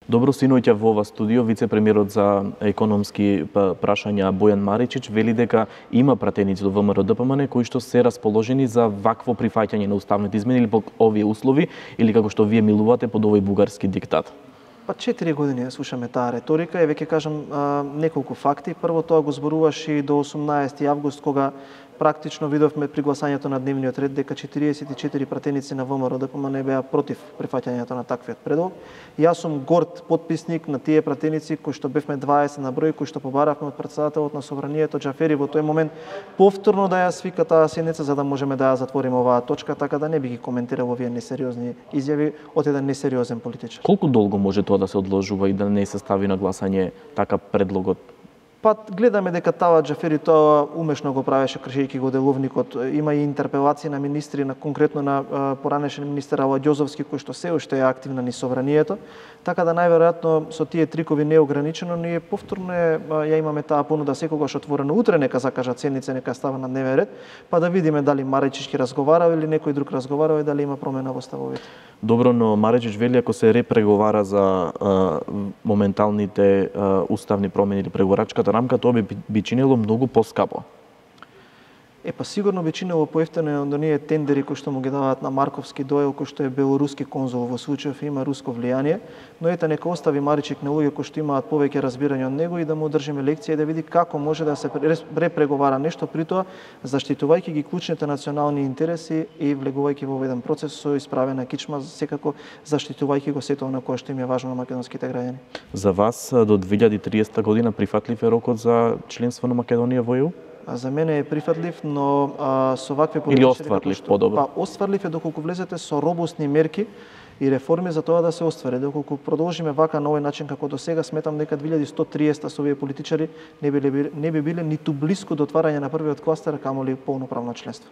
Добро синоќа во ова студио вице-премиерот за економски прашања Бојан Маричич вели дека има пратеници до ВМРО-ДПМН кои што се расположени за вакво прифаќање на уставните измени или под овие услови или како што вие милувате под овој бугарски диктат. 4 години слушаме таа реторика и веќе кажам неколку факти. Прво тоа го зборуваш и до 18 август кога практично видовме при гласањето на дневниот ред дека 44 пратеници на ВМРО-ДПМН беа против прифаќањето на таквиот предлог. Јас сум горд потписник на тие пратеници кои што бевме 20 на број, кои што побаравме од претседателот на Собранието Џафери во тој момент повторно да ја свика таа седница за да можеме да ја затвориме оваа точка, така да не би ги коментирал овие несериозни изјави од еден несериозен политичар. Колку долго може тоа да се одложува и да не се стави на гласање така предлогот? Па гледаме дека Талат Џафери тоа умешно го правеше кршејќи го деловникот. Има и интерпелации на министри, на конкретно на поранешен министер Ала Ѓозовски кој што се уште е активна низ Собранието, така да најверојатно со тие трикови неограничено ние повторно ја имаме таа понуда секогаш отворено. Утре нека закажат седница, нека става на дневен ред, па да видиме дали Маричич ќе разговарал или некој друг разговарал и дали има промена во ставовите. Добро, но Маричич вели ако се репреговара за моменталните уставни промени или преговорачката рамка, тоа би чинело многу поскапо. Па сигурно би чинело поевтино од оние тендери кои што му ги даваат на Марковски Доел, кој што е белоруски конзул во случајов има руско влијание, но ета нека остави Маричик на луѓе кои што имаат повеќе разбирање од него и да му одржиме лекција и да види како може да се репреговара нешто, при тоа заштитувајќи ги клучните национални интереси и влегувајќи во еден процес со исправена кичма, секако заштитувајќи го сето на кое што им е важно на македонските граѓани. За вас до 2030 година прифатлив е рокот за членство на Македонија во ЕУ? За мене е прифатлив, но со вакви политичари... Или остварлив, подобро? Па, остварлив е доколку влезете со робусни мерки и реформи за тоа да се оствари. Доколку продолжиме вака на овој начин како до сега, сметам дека 2130 со овие политичари не би биле ниту блиску до отварање на првиот кластер, камоли полноправно членство.